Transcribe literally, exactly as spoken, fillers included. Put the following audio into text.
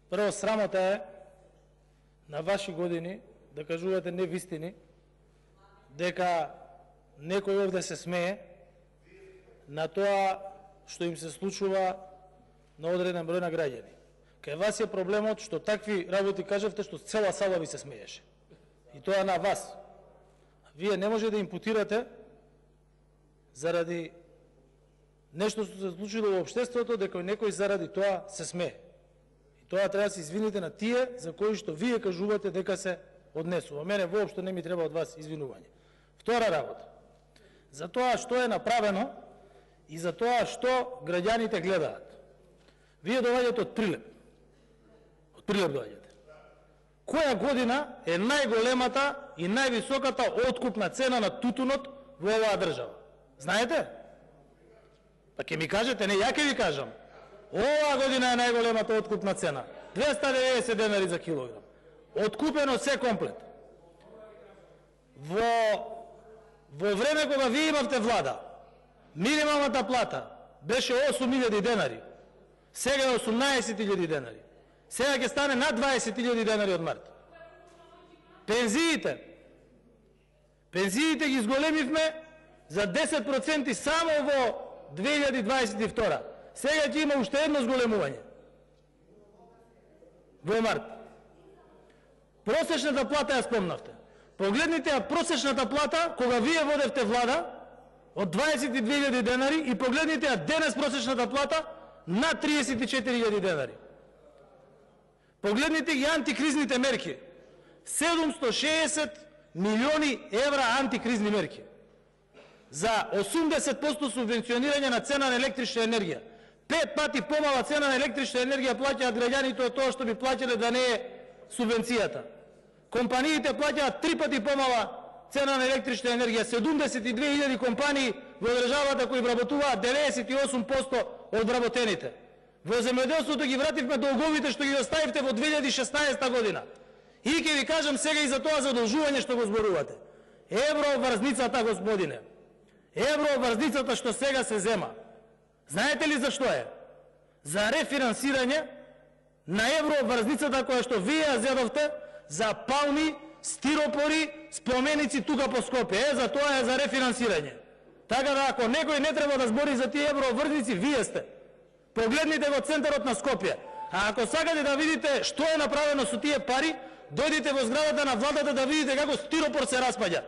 Прво, срамота е на ваши години да кажувате невистини, дека некој овде се смее на тоа што им се случува на одреден број на граѓани. Кај вас е проблемот што такви работи кажавте што цела сала ви се смееше. И тоа на вас. Вие не може да импутирате заради нешто што се случило во општеството, дека некој заради тоа се смее. И тоа треба да се извините на тие за кои што вие кажувате дека се однесува. Мене воопшто не ми треба од вас извинување. Втора работа. За тоа што е направено и за тоа што граѓаните гледаат. Вие доаѓате од Прилеп. Од Прилеп доаѓате. Која година е најголемата и највисоката откупна цена на тутунот во оваа држава? Знаете? Па ќе ми кажете, не, ја ќе ви кажам. Оваа година е најголемата откупна цена. двеста и деветдесет денари за килограм. Откупено се комплет. Во во време кога вие имавте влада, минималната плата беше осум илјади денари. Сега е осумнаесет илјади денари. Сега ќе стане над дваесет илјади денари од март. Пензиите. Пензиите ги зголемивме за десет проценти само во две илјади дваесет и втора. Сега ќе има уште едно зголемување. Во март. Просечната плата ја спомнавте. Погледнете ја просечната плата кога вие водевте влада од дваесет и две илјади денари и погледнете ја денес просечната плата на триесет и четири илјади денари. Погледнете ги антикризните мерки. седумстотини и шеесет милиони евра антикризни мерки. За осумдесет проценти субвенционирање на цена на електрична енергија. Пет пати помала цена на електрична енергија плаќаат граѓаните од тоа што би плаќале да не е субвенцијата. Компаниите плаќаат три пати помала цена на електрична енергија. седумдесет и две илјади компании во државата кои вработуваат деветдесет и осум проценти од вработените. Во земјоделството ги вративме долговите што ги оставивте во две илјади и шеснаесета година. И ќе ви кажам сега и за тоа задолжување што го зборувате. Евроврзницата, господине. Евроврзницата што сега се зема. Знаете ли зашто е? За рефинансирање на евроврзницата која што вие ја зедовте за палми, стиропори, споменици тука по Скопје. Е, за тоа е за рефинансирање. Така да ако некој не треба да збори за тие евроврзници, вие сте. Погледнете во центарот на Скопје. А ако сакате да видите што е направено со тие пари, дојдите во зградата на владата да видите како стиропор се распаѓа.